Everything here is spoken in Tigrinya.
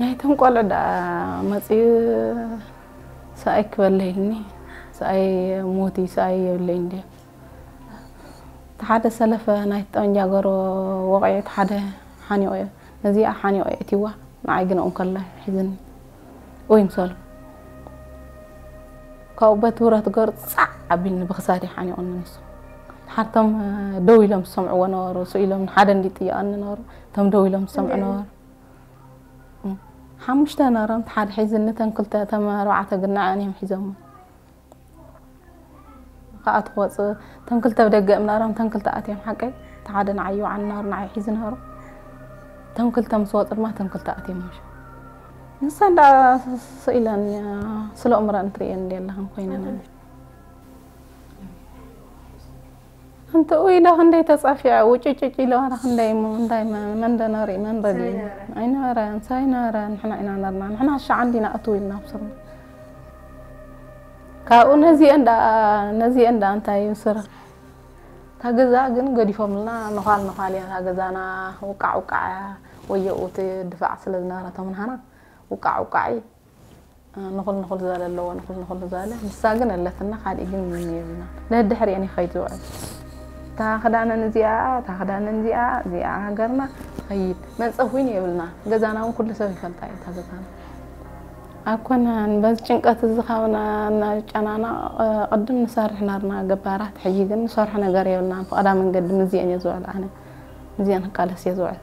ናይቶም ቆልዑ ደኣ መፅዩ ሰኣይ ክበለይልኒ፣ ሰኣይ ሞቲ፣ ሰኣይ የብለይ እንዲ። እቲ ሓደ ሰለፈ ናይ ጠንጃ ገሮ ወቕዒ፣ እቲ ሓደ ሓኒቑ እየ። ነዚኣ ሓኒቑ እየ እቲዋ፣ ንዓይ ግን ኦም ከላ ሒዝኒ። ወይ ምሰሉ። ካብኡ በቲ ብረት ገሩ ጻዕ ኣቢልኒ ብኽሳዲ ሓኒቑኒ ንሱ። ሓርቶም ደው ኢሎም ዝሰምዕዎ ነበሩ፣ ስኢሎም ሓደ እንዲ ጥያቐኒ ነበሩ፣ እቶም ደው ኢሎም ዝሰምዑ ነበሩ። ሓሙሽተ ነሮም፣ ሓደ ሒዝኒ፣ ተን ክልተ፣ ተም ኣርባዕተ ግን ንዕን እዮም ሒዞሞ። ከኣ ትወጽእ፣ ተን ክልተ ብደገ እዮም ነሮም፣ ተን ክልተ ኣትዮም ሓቀይ፣ እቲ ሓደ ንዓይ ይውዓል ነሩ፣ ንዓይ ሒዙ ነሩ። ተን ክልተ ምስ ወጹ ድማ ተን ክልተ ኣትዮም ምሽ። ንሳ እንዳ ስኢለን ስለ እምረን ትርእየን እንዲ ኣለኽን ኮይነን። እንተ ኢለ ክንደይ ተጻፊዐ፣ ውጭጭጭ ኢለ ዋላ ክንደይ እሞ፣ እንታይ መ-፣ መን ደነሪ፣ መን ረዲ? ኣይነበረን፣ ሳይነበረን፣ ንሕና ኢና ነርና። ንሕና ሻዓ እንዲና እትው ኢልና ኣብ ስርና። ካብኡ ነዚአን ደኣ፣ ነዚአን ደኣ እንታይ ይስራ? እታ ገዛ ግን ገዲፎምልና፣ ነዃል ነዃል እያ እታ ገዛና፣ ውቃዕ ውቃዕ እያ። ወየኡ እቲ ድፋዕ ስለ ዝነበረ፣ እቶም ንሃና ውቃዕ ውቃዕ እዩ። ንኹል ንኹል ዝበለ ኣለዎ፣ ንኹል ንኹል ዝበለ። ንሳ ግን ኣለትና፣ ካልእ ግን ምንም የብልና። ነድሕሪአን ይኸይድ ዝውዕል። እታ ክዳነን እዚኣ፣ እታ ክዳነን እዚኣ፣ እዚኣ ሃገርና ትኸይድ። መንጸፍ እውን የብልና። ገዛና እውን ኩሉ ሰብ ይፈልጣ እዩ እታ ገዛና። ኣይኮነን፣ በዚ ጭንቀት እዚ ካብ ና-፣ እናጨናነቕ፣ ቅድም ንሰርሕ ናርና ገባራት፣ ሕጂ ግን ንሰርሖ ነገር የብልና። ብቐዳ መንገዲ ምዚአን እየ ዝውዕል ኣነ። ምዚአን ክቃለስ እየ ዝውዕል።